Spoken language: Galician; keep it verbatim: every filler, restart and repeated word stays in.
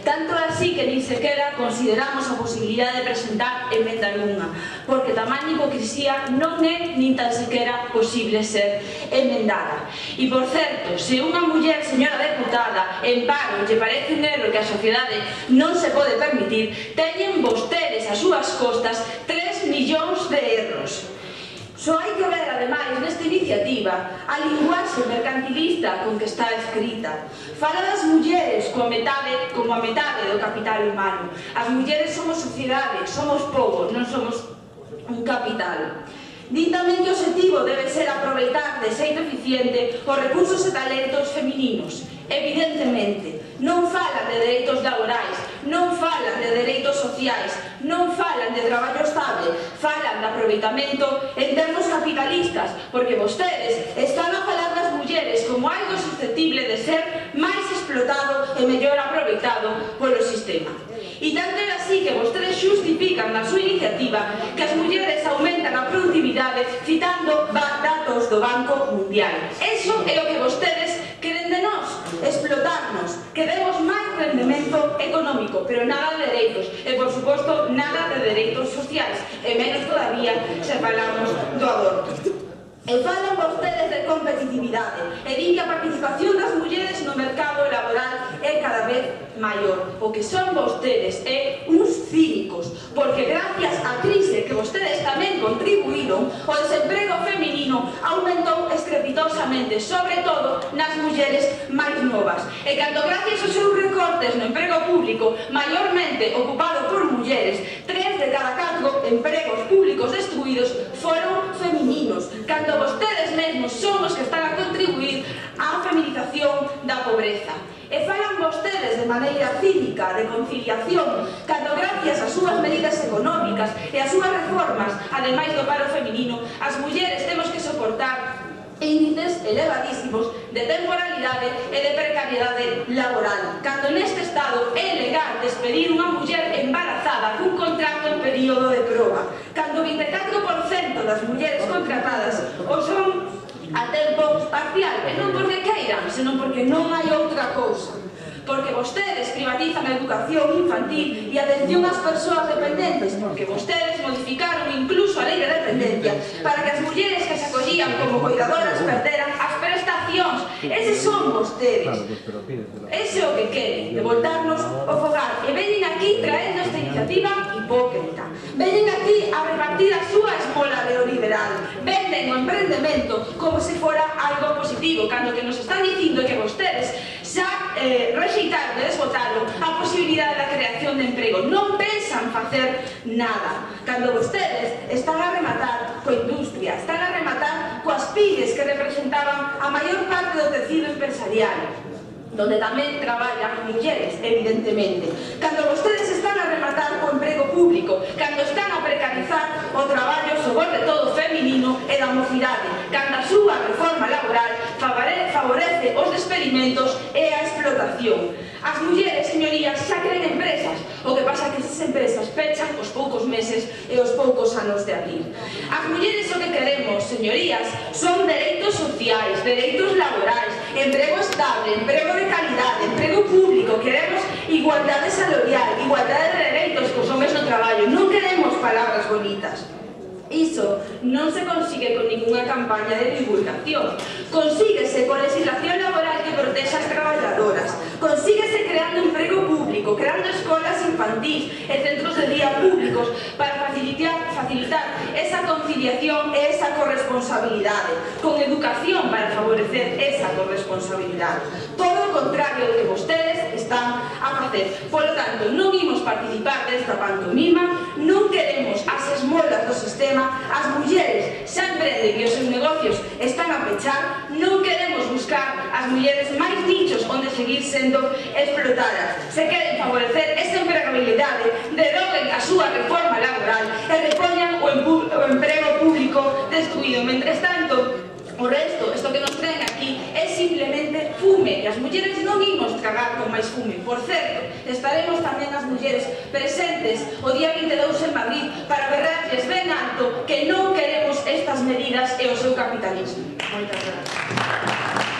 Tanto é así que nin sequera consideramos a posibilidade de presentar emenda nunha, porque tamén hipocrisía non é nin tan sequera posible ser emendada. E, por certo, se unha muller, señora deputada, en paro lle parece un erro que a sociedade non se pode permitir, teñen vostedes as súas costas tres millóns de erros. Só hai que ver, ademais, nesta iniciativa, a linguaxe mercantilista con que está escrita. Fala das mulleres como a metade do capital humano. As mulleres somos sociedade, somos povos, non somos un capital. Din tamén que o obxectivo debe ser aproveitar de xeito eficiente os recursos e talentos femininos. Evidentemente, non falan de dereitos laborais, non falan de dereitos sociais, non falan de traballo estable, falan de aproveitamento en termos capitalistas, porque vostedes están a falar das mulleres como algo susceptible de ser máis explotado e mellor aproveitado polo sistema. E tanto é así que vostedes xustifican na súa iniciativa que as mulleres aumentan a productividade citando datos do Banco Mundial. Eso é o que vostedes queren de nós, explotarnos, que demos máis rendemento económico, pero nada de dereitos, e por suposto nada de dereitos sociais, e menos todavía se falamos do aborto. E falan vostedes de competitividade, e din que a participación das mulleres no mercado laboral é cada vez maior. O que son vostedes é uns cínicos, porque gracias á crise que vostedes tamén contribuíron, o desemprego feminino aumentou estrepitosamente, sobre todo nas mulleres máis novas. E cando gracias aos seus recortes no emprego público, maiormente ocupado por mulleres, tres de cada catro empregos públicos destruídos foron femininos, cando vostedes mesmos son os que están a contribuir á feminización da pobreza. E falan vostedes de maneira cínica de conciliación, cando gracias ás súas medidas económicas e ás súas reformas, ademais do paro feminino, as mulleres temos que soportar índices elevadísimos de temporalidade e de precariedade laboral, cando neste estado é legal despedir unha muller embarazada cun contrato en período de proba, cando o vinte e catro por cento das mulleres contratadas o son a tempo parcial, e non porque queiran, senón porque non hai outra cousa. Porque vostedes privatizan a educación infantil e a atención ás persoas dependentes, porque vostedes modificaron incluso a lei de dependencia para que as mulleres que se acollían como cuidadoras perderan as prestacións. Eses son vostedes. Ese é o que queren, de voltarnos ao fogar. E veñen aquí traendo esta iniciativa hipócrita. Veñen aquí a repartir a súa esmola neoliberal. Venden o emprendemento como se fora algo positivo, cando que nos están dicindo que vostedes xa eh, rexeitaron e desbotaron a posibilidade da creación de emprego. Non pensan facer nada. Cando vostedes están a rematar coa industria, están a rematar coas pymes que representaban a maior parte do tecido empresarial, donde tamén traballan mulleres, evidentemente. Cando vostedes están a rematar co emprego público, cando están a precarizar o traballo sobre todo feminino e da mocidade, cando a súa reforma laboral favorece os despedimentos e a explotación. As mulleres, señorías, xa creen empresas, o que pasa é que esas empresas pechan os poucos meses e os poucos anos de abrir. As mulleres o que queremos, señorías, son dereitos sociais, dereitos laborais, emprego estable, emprego de calidade, emprego público, queremos igualdade salarial, igualdade de dereitos cos homes no traballo, non queremos palabras bonitas. Iso non se consigue con ninguna campaña de divulgación. Consíguese con legislación laboral que proteja as traballadoras. Consíguese creando emprego público, creando escolas infantís e centros de día públicos para facilitar, facilitar esa conciliación e esa corresponsabilidade. Con educación para favorecer esa corresponsabilidade. Todo o contrario do que vostedes están a facer. Por lo tanto, non imos participar desta pantomima, non queremos as esmolas do sistema. As mulleres xa emprenden e os seus negocios están a pechar, non queremos buscar as mulleres máis nichos onde seguir sendo explotadas. Se queren favorecer esa empregabilidade, deroguen a súa reforma laboral e repoñan o emprego público destruído. Mentres tanto, o resto, isto que nos traen aquí, é simplemente fume, e as mulleres non imos tragar con máis fume. Por certo, estaremos tamén as mulleres presentes o día vinte e dous en Madrid para berrarles ben alto que non queremos estas medidas e o seu capitalismo. Moitas grazas.